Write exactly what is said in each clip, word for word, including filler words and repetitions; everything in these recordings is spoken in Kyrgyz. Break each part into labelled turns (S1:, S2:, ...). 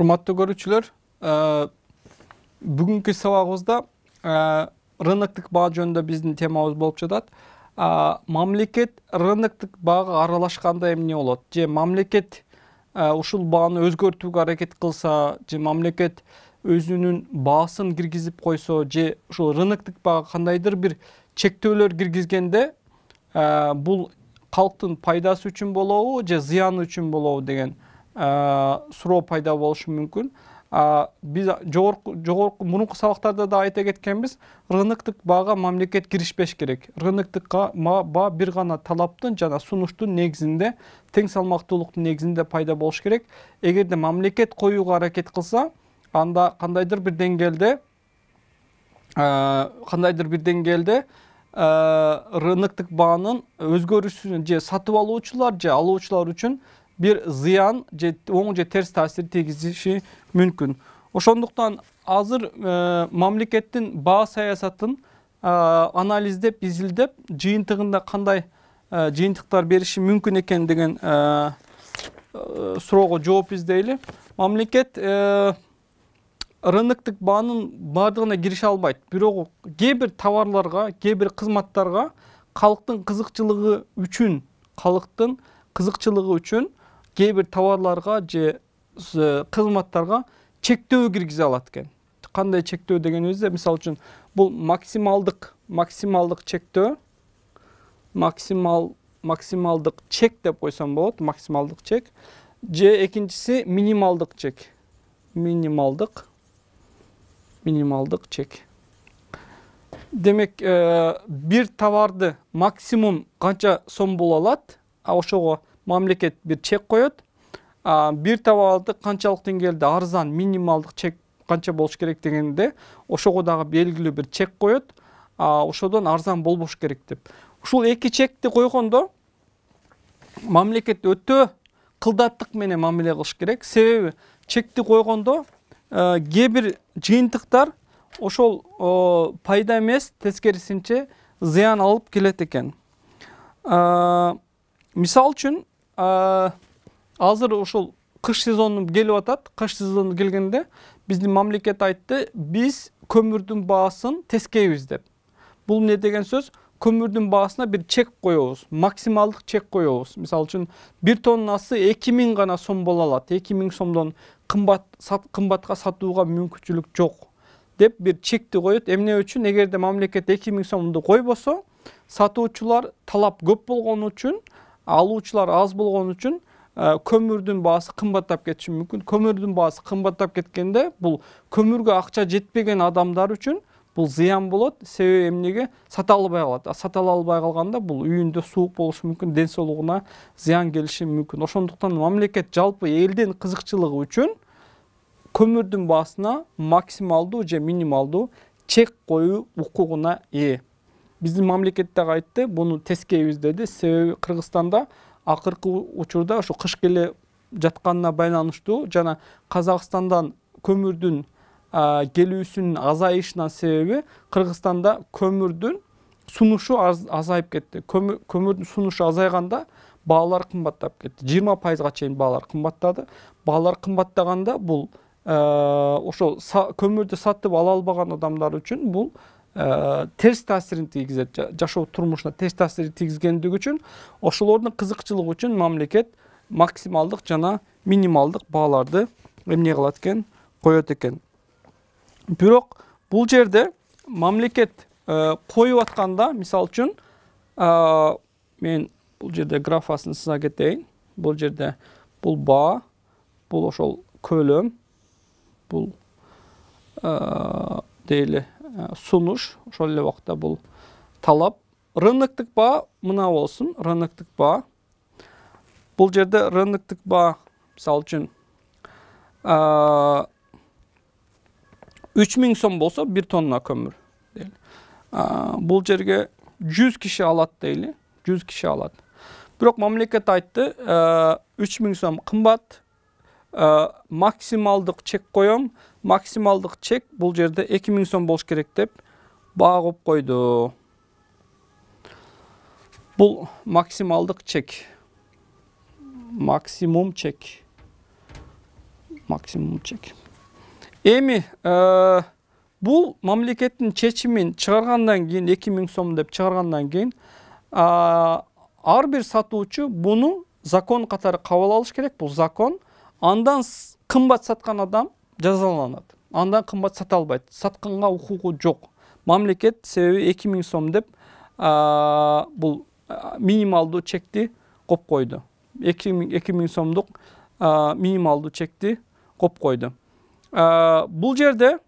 S1: Урматтуу көрүүчүлөр, бүгүнкү сабагыбызда рыноктук баа жөнүндө биздин темабыз болуп жатат. Мамлекет рыноктук баага аралашканда эмне болот? Же мамлекет ушул бааны өзгөртүүгө аракет кылса, же мамлекет өзүнүн баасын киргизип койсо, же ушул рыноктук баага кандайдыр бир чектөөлөр киргизгенде, бул калктын пайдасы үчүн болобу, же зыяны үчүн болобу деген суроо пайда болушу мүмкүн. Биз жогорку жогорку мурунку сабактарда да айта кеткенбиз, рыноктук баага мамлекет киришпеш керек. Рыноктук баа бир гана талаптын жана сунуштун негизинде, тең салмактуулуктун негизинде пайда болуш керек. Эгерде мамлекет коюуга аракет кылса, анда кандайдыр бир деңгээлде кандайдыр бир деңгээлде рыноктук баанын өзгөрүшүнө же сатып алуучулар же алуучулар үчүн бир зыян же оң же терс таасир тийгизиши мүмкүн. Ошондуктан азыр мамлекеттин баа саясатын анализдеп, изилдеп, жыйынтыгында кандай жыйынтыктар бериши мүмкүн экен деген суроого жооп издейли. Мамлекет рыноктук баанын баардыгына кирише албайт. Бирок кээ бир товарларга, кээ бир кызматтарга калктын кызыкчылыгы үчүн, калктын кызыкчылыгы үчүн кээ бир товарларга же кызматтарга чектөө киргизе алат экен. Кандай чектөө дегенибизде, мисалы үчүн, бул максималдык максималдык чектөө, максимал максималдык чек деп койсом болот, максималдык чек. Же экинчиси минималдык чек. Минималдык минималдык чек. Демек, бир товарды максимум канча сом боло алат, ошого мамлекет бир чек коет. Бир товарды канчалык деңгээлде арзан, минималдык чек канча болуш керек дегенде, ошого дагы белгилүү бир чек коет. Ошодон арзан болбош керек деп. Ушул эки чекти койгондо мамлекет өтө кылдаттык менен мамиле кылыш керек. Себеби чекти койгондо кээ бир жыйынтыктар ошол пайда эмес, тескерисинче зыян алып келет экен. Мисалы үчүн, азыр ушул кыш сезону келип атат. Кыш сезону келгенде биздин мамлекет айтты, биз көмүрдүн баасын тескейбиз деп. Бул эмне деген сөз? Көмүрдүн баасына бир чек коебуз, максималдык чек коебуз. Мисалы үчүн, бир тоннасы эки миң гана сом боло алат. эки миң сомдон кымбат кымбатка сатууга мүмкүнчүлүк жок деп бир чекти коет. Эмне үчүн? Эгерде мамлекет эки миң сомду койбосо, сатуучулар талап көп болгон үчүн, алуучулар аз болгон үчүн көмүрдүн баасы кымбаттап кетиши мүмкүн. Көмүрдүн баасы кымбаттап кеткенде, бул көмүргө акча жетпеген адамдар үчүн бул зыян болот. Себеби эмнеге? Сата албай калат. Сата албай калганда бул үйүндө суук болушу мүмкүн, ден соолугуна зыян келиши мүмкүн. Ошондуктан мамлекет жалпы элдин кызыкчылыгы үчүн көмүрдүн баасына максималдуу же минималдуу чек коюу укугуна ээ. Биздин мамлекет дагы айтты, буну тескейбиз деди. Себеби Кыргызстанда акыркы учурда ушу кыш келе жатканына байланыштуу жана Казакстандан көмүрдүн келүүсүнүн азайышынан себеби Кыргызстанда көмүрдүн сунушу азайып кетти. Көмүрдүн сунушу азайганда баалар кымбаттап кетти. жыйырма пайызга чейин баалар кымбаттады. Баалар кымбаттаганда бул ошол көмүрдү сатып ала албаган адамдар үчүн бул терс таасирин тийгизет. Жашоо турмушуна терс таасир тийгизгендиги үчүн ошолордун кызыкчылыгы үчүн мамлекет максималдык жана минималдык бааларды эмне кылат экен? Коет экен. Бирок бул жерде мамлекет коюп атканда, мисалы үчүн, мен бул жерде графасын сыза кетейин. Бул жерде бул баа, бул ошол көлөм, бул дейли сунуш, ошол эле убакта бул талап. Рыноктук баа мына болсун, рыноктук баа. Бул жерде рыноктук баа, мисалы үчүн, үч миң сом болсо бир тонна көмүр дейли. Бул жерге жүз киши алат дейли, жүз киши алат. Бирок мамлекет айтты, үч миң сом кымбат, максималдык чек коем, максималдык чек бул жерде эки миң сом болуш керек деп баа коюп койду. Бул максималдык чек. Максимум чек. максимум чек. Эми бул мамлекеттин чечимин чыгаргандан кийин эки миң сом деп чыгаргандан кийин ар бир сатуучу буну закон катары кабыл алыш керек. Бул закон. Андан кымбат саткан адам жазаланат. Андан кымбат сата албайт. Сатканга укугу жок. Мамлекет себеби эки миң сом деп бул минималдуу чекти коюп койду. эки миң сомдук минималдуу чекти коюп койду. Бул жерде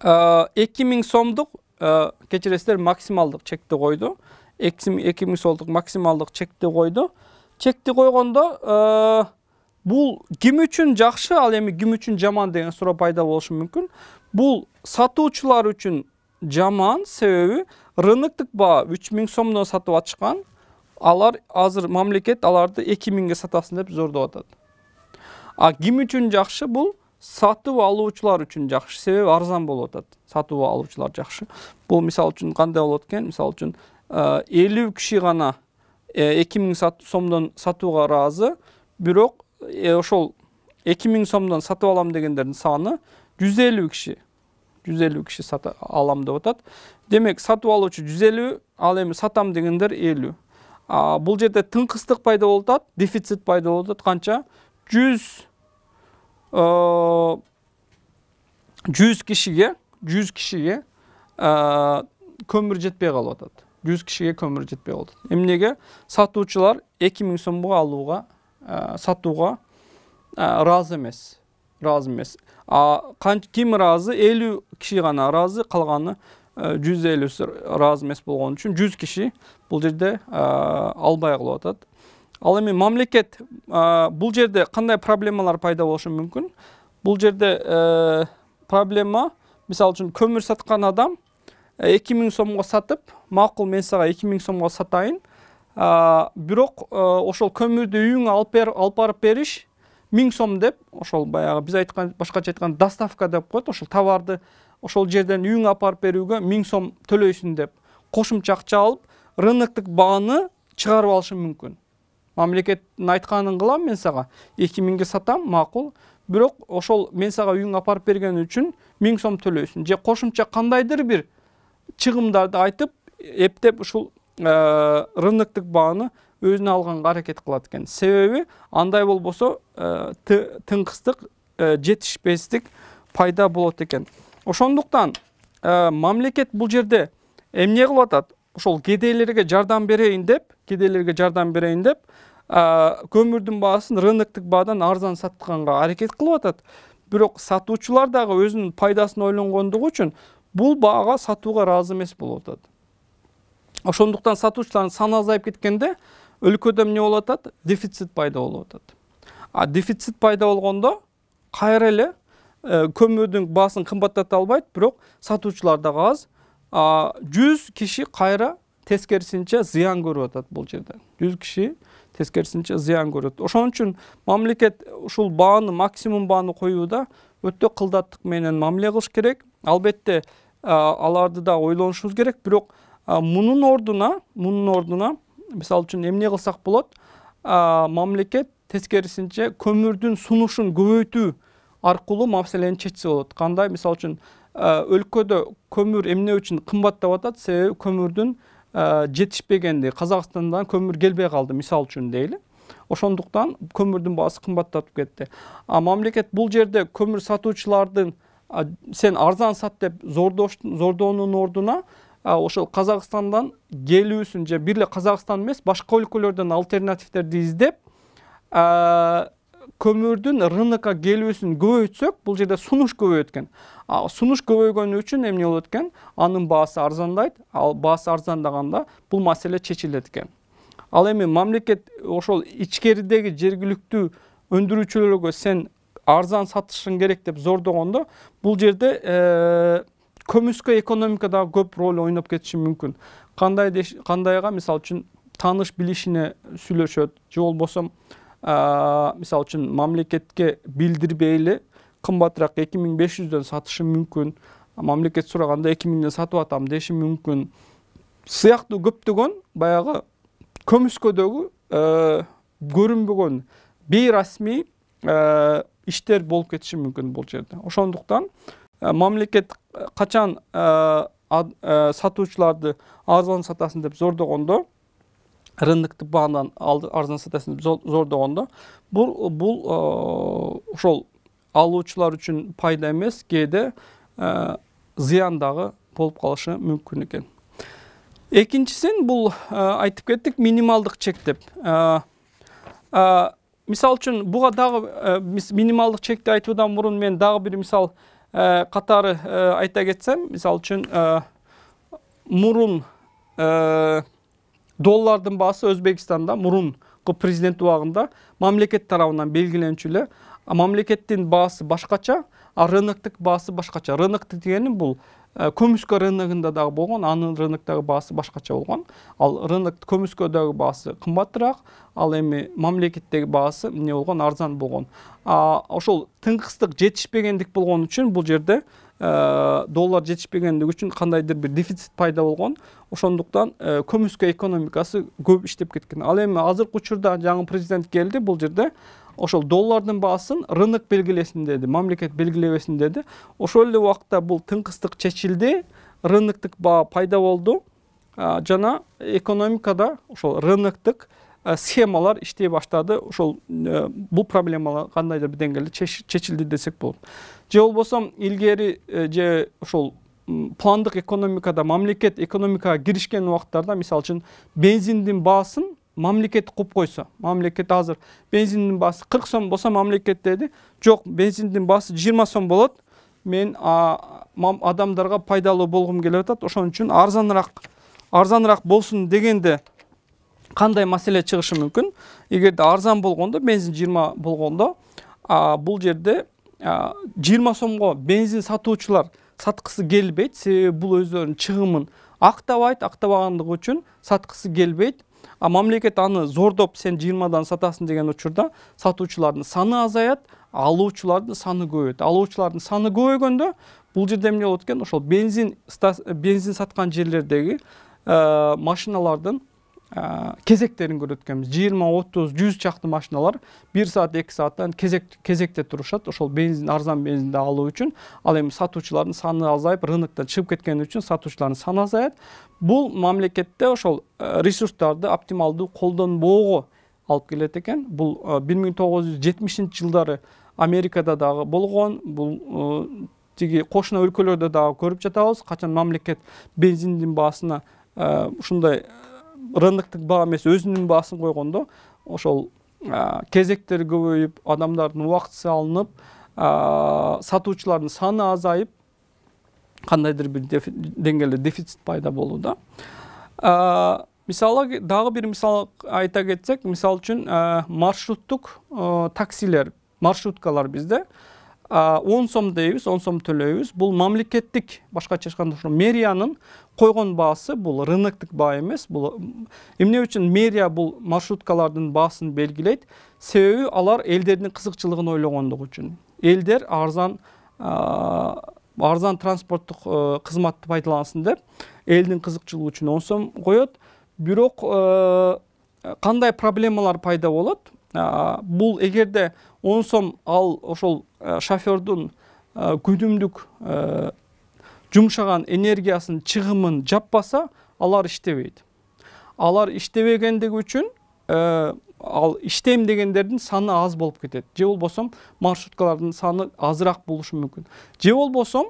S1: эки миң сомдук кечиресиздер максималдык чекти койду. эки миң сомдук максималдык чекти койду. Чекти койгондо бул ким үчүн жакшы, ал эми ким үчүн жаман деген суроо пайда болушу мүмкүн. Бул сатуучулар үчүн жаман, себеби рыноктук баа үч миң сомдон сатып атышкан. Алар азыр мамлекет аларды эки миңге сатасын деп зордоп атат. А ким үчүн жакшы? Бул сатып алуучулар үчүн жакшы, себеби арзан болуп атат. Сатып алуучулар жакшы. Бул мисал үчүн кандай болот экен? Мисал үчүн элүү киши гана эки миң сомдон сатууга ыраазы, бирок ошол эки миң сомдон сатып алам дегендердин саны жүз элүү киши. жүз элүү киши сатып алам деп атат. Демек, сатып алуучу жүз элүү, ал эми сатам дегендер элүү. Бул жерде тыңкыстык пайда болуп атат, дефицит пайда болуп атат. Канча? жүз кишиге, жүз кишиге көмүр жетпей калып атат. жүз кишиге көмүр жетпей калып атат. Эмнеге? Сатуучулар эки миң сомго алууга, сатууга ыраазы эмес. Ыраазы эмес. Ким ыраазы? элүү киши гана ыраазы, калганы жүз элүүсү ыраазы эмес болгон үчүн жүз киши бул жерде албай калып атат. Ал эми мамлекет бул жерде кандай проблемалар пайда болушу мүмкүн? Бул жерде проблема, мисалы үчүн көмүр саткан адам эки миң сомго сатып, макул мен сага эки миң сомго сатайын. Бирок ошол көмүрдү үйүңө алып барып бериш миң сом деп, ошол баягы биз айткан, башкача айткан доставка деп коет. Ошол товарды ошол жерден үйүңө алып барып берүүгө миң сом төлөйсүң деп кошумча акча алып, рыноктук бааны чыгарып алышы мүмкүн. Мамлекеттин айтканын кылам мен сага, эки миңге сатам, макул. Бирок ошол мен сага үйүңө алып барып берген үчүн миң сом төлөйсүн. Же кошумча кандайдыр бир чыгымдарды айтып, эптеп ушул рыноктук бааны өзүнө алганга аракет кылат экен. Себеби андай болбосо тыңкыстык, жетишпестик пайда болот экен. Ошондуктан мамлекет бул жерде эмне кылып атат? Ошол кедейлерге жардам берейин деп, кедейлерге жардам берейин деп, көмүрдүн баасын рыноктук баадан арзан сатканга аракет кылып атат. Бирок сатуучулар дагы өзүнүн пайдасын ойлонгондугу үчүн бул баага сатууга ыраазы эмес болуп атат. Ошондуктан сатуучулардын саны азайып кеткенде өлкөдө эмне болуп атат? Дефицит пайда болуп атат. А дефицит пайда болгондо кайра эле көмүрдүн баасын кымбаттата албайт, бирок сатуучулар дагы аз. жүз киши кайра тескерисинче зыян көрүп атат бул жерде. жүз киши тескерисинче зыян көрөт. Ошон үчүн мамлекет ушул бааны, максимум бааны коюуда өтө кылдаттык менен мамиле кылыш керек. Албетте аларды да ойлонушубуз керек, бирок мунун ордуна, мунун ордуна мисалы үчүн эмне кылсак болот? Мамлекет тескерисинче көмүрдүн сунушун көбөйтүү аркылуу маселени чечсе болот. Кандай? Мисалы үчүн өлкөдө көмүр эмне үчүн кымбаттап атат? Себеби көмүрдүн жетишпегенди, Казакстандан көмүр келбей калды, мисалы үчүн дейли. Ошондуктан көмүрдүн баасы кымбаттап кетти. А мамлекет бул жерде көмүр сатуучулардын сен арзан сат деп зордоонун ордуна ошол Казакстандан келүүсүн же бир эле Казакстан эмес, башка өлкөлөрдөн альтернативдерди издеп, көмүрдүн рынокко келүүсүн көбөйтсөк, бул жерде сунуш көбөйөт экен. Сунуш көбөйгөнү үчүн эмне болот экен? Анын баасы арзандайт. Ал баасы арзандаганда бул маселе чечилет экен. Ал эми мамлекет ошол ичкеридеги жергиликтүү өндүрүүчүлөргө сен арзан сатышың керек деп зордогондо, бул жерде көмүскө экономика дагы көп роль ойноп кетиши мүмкүн. Кандай кандайга, мисалы үчүн тааныш билишине сүйлөшөт, же болбосо мисалы үчүн мамлекетке билдирбей эле кымбатыраак эки миң беш жүздөн сатышы мүмкүн. Мамлекет сураганда эки миңден сатып атам деши мүмкүн. Сыяктуу көптөгөн баягы көмүскөдөгү көрүнбөгөн бейрасмий иштер болуп кетиши мүмкүн бул жерде. Ошондуктан мамлекет качан сатуучуларды арзан сатасын деп зордогондо, рыноктук баадан арзан сатасын деп зордогондо, бул бул ошол алуучулар үчүн пайда эмес, кээде зыян дагы болуп калышы мүмкүн экен. Экинчисин бул айтып кеттик, минималдык чек деп. Мисал үчүн буга дагы минималдык чекти айтуудан мурун мен дагы бир мисал катары айта кетсем, мисал үчүн мурун доллардын баасы Өзбекстанда мурунку президент убагында мамлекет тарабынан белгиленчү эле, мамлекеттин баасы башкача, а рыноктук баасы башкача. Рыноктук дегени бул көмүскө рыногунда дагы болгон, анын рыноктогу баасы башкача болгон. Ал рынок көмүскөдөгү баасы кымбатыраак, ал эми мамлекеттеги баасы эмне болгон, арзан болгон. Ошол тыңкыстык жетишпегендик болгон үчүн бул жерде доллар жетишпегендиги үчүн кандайдыр бир дефицит пайда болгон. Ошондуктан көмүскө экономикасы көп иштеп кеткен. Ал эми азыркы учурда жаңы президент келди, бул жерде ошол доллардын баасын рынок белгилесин деди, мамлекет белгилебесин деди. Ошол эле убакта бул тыңкыстык чечилди, рыноктук баа пайда болду жана экономикада ошол рыноктук схемалар иштей баштады. Ошол бул проблемалар кандайдыр бир деңгээлде чечилди десек болот. Же болбосо илгери же ошол пландык экономикада мамлекет экономикага киришкен убактарда, мисалы үчүн бензиндин баасын мамлекет куп койсо, мамлекет азыр бензиндин баасы кырк сом болсо, мамлекет деди, жок, бензиндин баасы жыйырма сом болот, мен адамдарга пайдалуу болгум келип атат, ошон үчүн арзаныраак арзаныраак болсун дегенде кандай маселе чыгышы мүмкүн? Эгерде арзан болгондо, бензин жыйырма болгондо, бул жерде жыйырма сомго бензин сатуучулар саткысы келбейт, себеби бул өздөрүнүн чыгымын актабайт, актабагандыгы үчүн саткысы келбейт. А мамлекет аны зордоп сен жыйырмадан сатасың деген учурда сатуучулардын саны азаят, алуучулардын саны көбөйөт. Алуучулардын саны көбөйгөндө бул жерде эмне болот экен? Ошол бензин бензин саткан жерлердеги машиналардын кезектерин көрөт экенбиз. жыйырма, отуз, жүз чакты машиналар бир саат, эки сааттан кезек кезекте турушат. Ошол бензин, арзан бензинди алуу үчүн. Ал эми сатуучулардын саны азайып, рыноктон чыгып кеткени үчүн сатуучулардын саны азаят. Бул мамлекетте ошол ресурстарды оптималдуу колдонбоого алып келет экен. Бул бир миң тогуз жүз жетимишинчи жылдары Америкада дагы болгон. Бул тиги кошуна өлкөлөрдө дагы көрүп жатабыз. Качан мамлекет бензиндин баасына ушундай рыноктук баа эмес, өзүнүн баасын койгондо, ошол кезектер көбөйүп, адамдардын убактысы алынып, сатуучулардын саны азайып, кандайдыр бир деңгээлде дефицит пайда болууда. Мисалы дагы бир мисал айта кетсек, мисалы үчүн маршруттук таксилер, маршруткалар бизде он сом дейбиз, он сом төлөйбүз. Бул мамлекеттик, башкача айтканда ошо мэриянын койгон баасы, бул рыноктук баа эмес. Бул эмне үчүн мэрия бул маршруткалардын баасын белгилейт? Себеби алар элдердин кызыкчылыгын ойлогондугу үчүн. Элдер арзан арзан транспорттук кызматты пайдалансын деп, элдин кызыкчылыгы үчүн он сом коет. Бирок кандай проблемалар пайда болот? Бул эгерде он сом ал ошол шофёрдун күнүмдүк жумшаган энергиясын, чыгымын жаппаса, алар иштебейт. Алар иштебегендиги үчүн ал иштейм дегендердин саны аз болуп кетет. Же болбосо маршруткалардын саны азыраак болушу мүмкүн. Же болбосо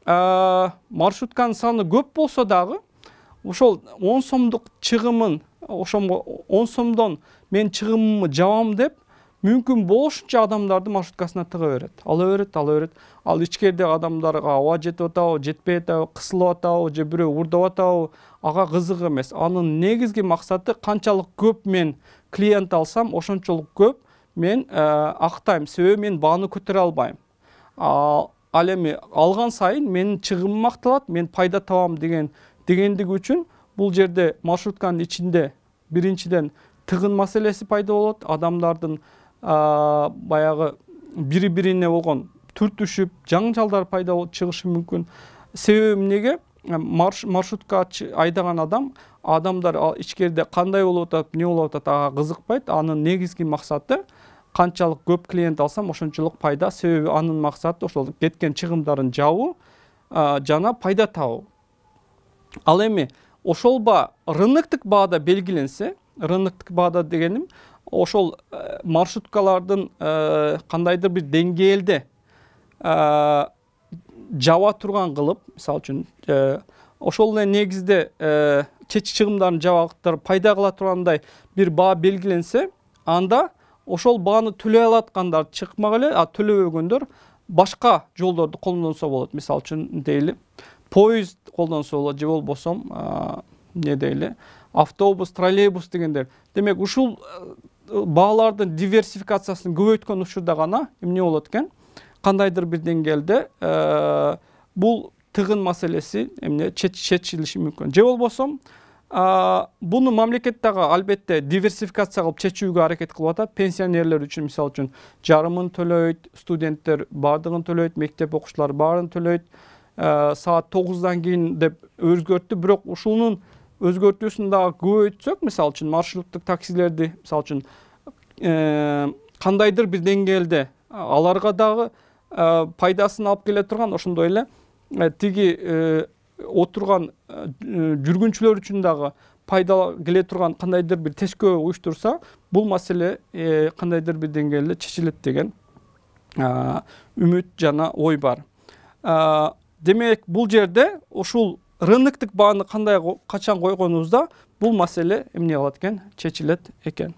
S1: маршрутканын саны көп болсо дагы, ошол он сомдук чыгымын, ошомго он сомдон мен чыгымымды жабам деп, мүмкүн болушунча адамдарды маршруткасына тыга берет. Ала берет, ала берет. Ал ичкерде адамдарга аба жетип атабы, жетпей атабы, кысылып атабы, же бирөө урдап атабы, ага кызык эмес. Анын негизги максаты канчалык көп мен клиент алсам, ошончолук көп мен актайм, себеби мен бааны көтөрө албайм. Ал эми алган сайын менин чыгымым акталат, мен пайда табам деген дегендиги үчүн бул жерде маршрутканын ичинде биринчиден тыгын маселеси пайда болот. Адамдардын баягы бири-бирине болгон түртүшүп, жаңжалдар пайда болуп чыгышы мүмкүн. Себеби эмнеге? Маршрутка айдаган адам, адамдар ичкерде кандай болуп атат, эмне болуп атат, ага кызыкпайт. Анын негизги максаты канчалык көп клиент алсам ошончолук пайда, себеби анын максаты ошол кеткен чыгымдарын жабуу жана пайда табуу. Ал эми ошол баа рыноктук баада белгиленсе, рыноктук баада дегеним ошол маршруткалардын кандайдыр бир деңгээлде жаба турган кылып, мисалы үчүн ошол эле негизде чечи чыгымдарын жабактар пайда кыла тургандай бир баа белгиленсе, анда ошол бааны төлөй алаткандар чыкмак эле, а төлөбөгөндөр башка жолдорду колдонсо болот. Мисалы үчүн дейли, поезд колдонсо болот же болбосо эмне дейли, автобус, троллейбус дегендер. Демек, ушул баалардын диверсификациясын көбөйткөн учурда гана эмне болот экен? Кандайдыр бир деңгээлде бул тыгын маселеси эмне чечилиши мүмкүн. Же болбосо буну мамлекет дагы албетте диверсификация кылып чечүүгө аракет кылып атат. Пенсионерлер үчүн мисалы үчүн жарымын төлөйт, студенттер баардыгын төлөйт, мектеп окуучулары баарын төлөйт. Саат тогуздан кийин деп өзгөрттү, бирок ушунун өзгөртүүсүн дагы көбөйтсөк, мисалы үчүн маршруттук таксилерди, мисалы үчүн кандайдыр бир деңгээлде аларга дагы пайдасын алып келе турган, ошондой эле тиги отурган жүргүнчүлөр үчүн дагы пайда келе турган кандайдыр бир тескөө уюштурса, бул маселе кандайдыр бир деңгээлде чечилет деген үмүт жана ой бар. Демек, бул жерде ушул рыноктук бааны кандай качан койгонубузда бул маселе эмне кылат экен? Чечилет экен.